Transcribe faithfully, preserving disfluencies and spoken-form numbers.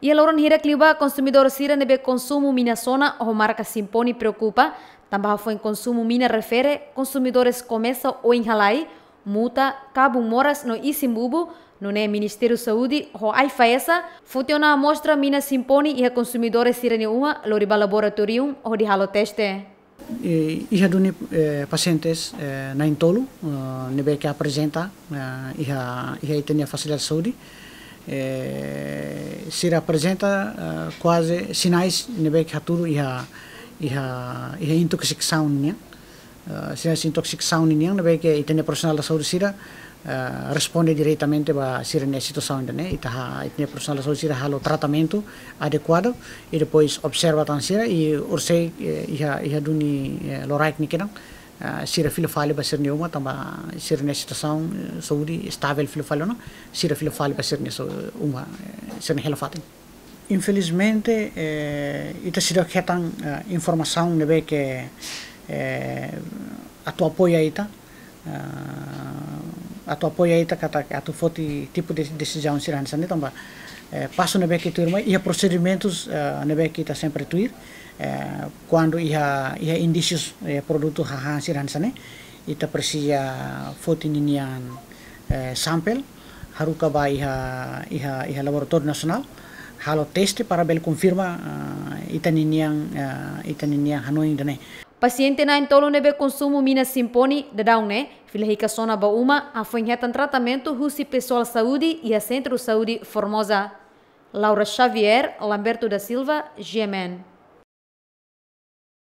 Iha loron hirak liubá, konsumidór sira ne'ebé konsumu mina sona ho marka Simponi preokupa, tanba hafoin konsumu mina refere, konsumidores komesa oin halai, muta, kabun moras no isin bubu, nune'e Ministériu Saúde ho AIFAESA foti ona amostra mina Simponi iha konsumidór sira-nia uma, lori ba laboratóriu hodi halo teste. Eh, iha duni, eh, pasientes, eh, na'in-tolu, eh, ne'ebé ke aprezenta, eh, iha, iha ita-nia fasilidade saúde. Eh, sira aprezenta, eh, kuaze sinais ne'ebé ke hatudu iha, iha, iha intoksikasaun nian. Eh, sinais intoksikasaun nian ne'ebé ke ita-nia profisionál da saúde sira, eh, responde diretamente ba sira-nia situasaun ida-ne'e, ita ha, ita-nia profisionál da saúde sira halo tratamentu adekuadu, i depois observa tan sira, i orsida, eh, iha, iha duni, eh, loraik ne'e kedan, eh, sira fila fali ba sira-nia uma, tanba sira-nia situasaun, eh, saúde estável fila fali ona, sira fila fali ba sira-nia so-, uma, eh, sira-nia hela fatin. Infelizmente, eh, ita seidauk hetan, eh, informasaun ne'ebé ke, eh, atu apoia ita, eh, atu apoia ita katak atu foti tipu de desizaun sira hanesan ne'e tanba, eh, pasu ne'ebé ke tuir mai, iha prosedimentus, eh, ne'ebé ke ita sempre tuir, eh, kuandu iha, iha indísius, eh, produtu hahán sira hanesan ne'e, ita presiza foti ninian, eh, sampel, haruka ba iha, iha, iha laboratóriu nasionál, halo teste para bele konfirma, ah, ita ninian, ah, ita ninian hanoin ida-ne'e. Pasiente na'in-tolu ne'ebé konsumu mina Simponi daudaun ne'e, fila hikas ona ba uma, hafoin hetan tratamentu husi pesoál saúde iha Sentru Saúde Formosa. Laura Xavier, Lamberto da Silva, G M N.